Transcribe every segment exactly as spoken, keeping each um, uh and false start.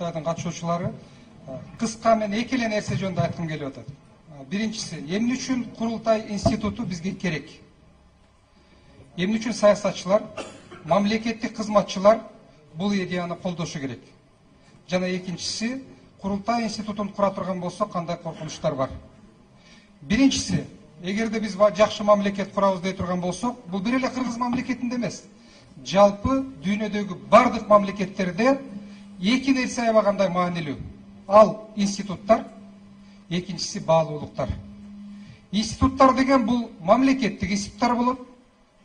курултайдын катышуучулары, кыска мен эки эле нерсе жөнүндө айткым келип атат. Биринчиси, эмне үчүн курултай институту бизге керек? Эмне үчүн саясатчылар, мамлекеттик кызматчылар бул идеяны колдошу керек? Жана экинчиси, курултай институтун кура турган болсок, кандай коркунучтар бар? Биринчиси, эгерде биз жакшы мамлекет курабыз дей турган болсок, бул бир эле Кыргыз мамлекетинде эмес, жалпы дүйнөдөгү бардык мамлекеттерде эки нерсе аябагандай маанилүү. Ал институттар, экинчиси баалуулуктар. Институттар деген бул мамлекеттик институттар болот.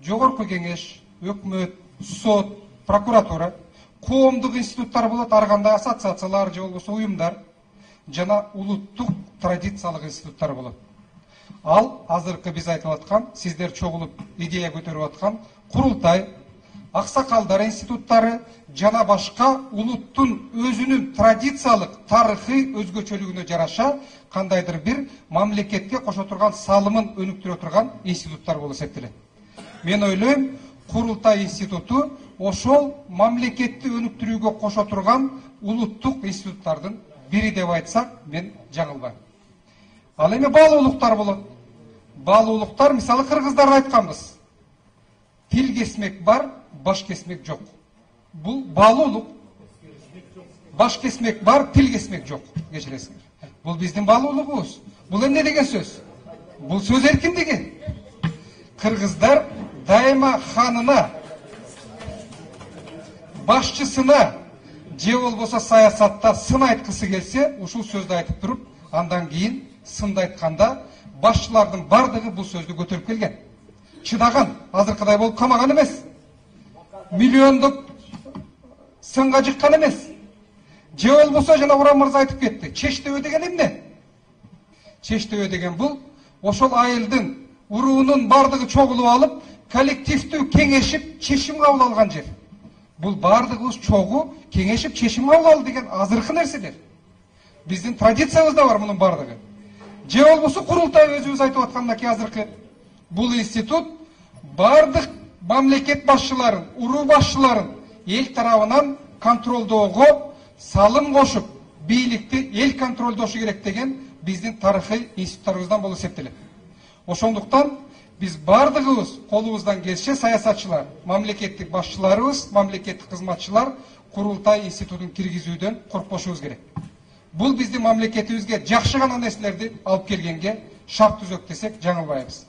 Жогорку кеңеш, өкмөт, сот, прокуратура, коомдук институттар болот, ар кандай ассоциациялар же болбосо уюмдар, жана улуттук традициялык институттар болот. Ал азыркы биз айтып аткан, сиздер чогулуп идея көтөрүп аткан курултай, аксакалдар институттары жана башка улуттун өзүнүн традициялык тарыхый өзгөчөлүгүнө жараша кандайдыр бир мамлекетке кошо турган салымын өнүктүрө турган институттар болуп эсептелет. Мен ойлойм, курултай институту ошол мамлекетти өнүктүрүүгө кошо турган улуттук институттардын бири деп айтсак, мен жаңылбайм. Ал эми баалуулуктар болот. Баалуулуктар, мисалы, кыргыздар айтканбыз. Тил кесмек бар, баш кесмек жок. Бул баалуулук. Баш кесмек бар, тил кесмек жок. Кечиресиңер. Бул биздин баалуулугубуз. Бул эмне деген сөз? Бул сөз эркиндиги. Кыргыздар дайыма ханына, башчысына же болбосо саясатта сын айткысы келсе, ушул сөздү айтып туруп, андан кийин сынды айтканда башчылардын бардыгы бул сөздү көтөрүп келген. Чыдаган, азыркыдай болуп камаган эмес. Миллиондук сынга жыккан эмес. Же болбосо жана Урам мырза айтып кетти. Чечтебе деген эмне? Чечтебе деген бул ошол айылдын, уруунун бардыгы чогулуп алып, коллективдүү кеңешип, чечим кабыл алган жер. Бул бардыгыбыз чогуу кеңешип, чечим кабыл алды деген азыркы нерселер. Биздин традициябызда бар мунун бардыгы. Же болбосо курултай өзүбүз айтып аткандай азыркы. Бул институт бардык мамлекет башчыларын, уруу башчыларын эл тарабынан контролдоого салым кошуп, бийликти эл контролдошу керек деген биздин тарыхый институттарыбыздан болуп эсептелет. Ошондуктан биз бардыгыбыз колубуздан келсе саясатчылар, мамлекеттик башчыларыбыз, мамлекеттик кызматчылар курултай институтун киргизүүдөн коркпошубуз керек. Бул биздин мамлекетибизге жакшы гана нерселерди алып келгенге шарт түзөк десек жаңылбайбыз.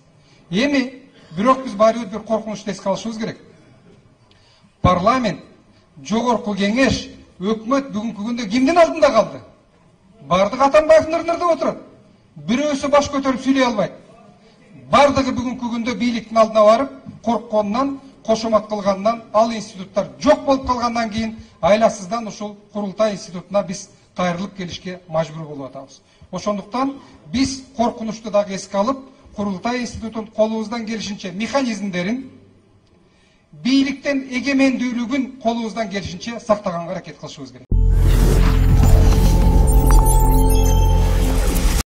Эми бирок биз баарыбыз бир коркунучту эске алышыбыз керек. Парламент, жогорку кеңеш, өкмөт бүгүнкү күндө кимдин алдында калды? Бардыгы Атамбаевдин ордунда отурат. Бирөөсү баш көтөрүп сүйлөй албайт. Бардыгы бүгүнкү күндө бийликтин алдына барып, коркконунан, кошомат кылгандан, ал институттар жок болуп калгандан кийин айласыздан ушул курултай институтуна биз кайрылып келишке мажбур болуп атабыз. Ошондуктан биз коркунучту дагы эске алып, курултай институтун колубуздан келишинче механизмдерин, бийликтен эгемендүүлүгүн колубуздан келишинче сактаганга аракет кылышыбыз керек.